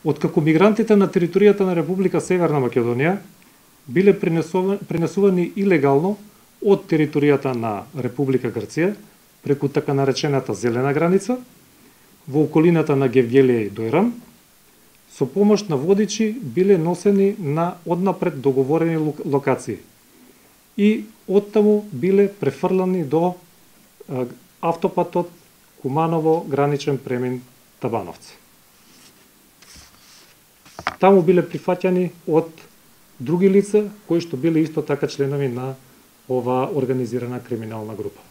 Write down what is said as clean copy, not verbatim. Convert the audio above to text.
Откако мигрантите на територијата на Република Северна Македонија биле пренесувани илегално од територијата на Република Грција преку така наречената зелена граница во околината на Гевгелија и Дојран, со помош на водичи биле носени на однапред договорени локации и оттаму биле префрлани до автопатот Куманово граничен премин Табановци. Таму биле прифаќани од други лица кои што биле исто така членови на оваа организирана криминална група.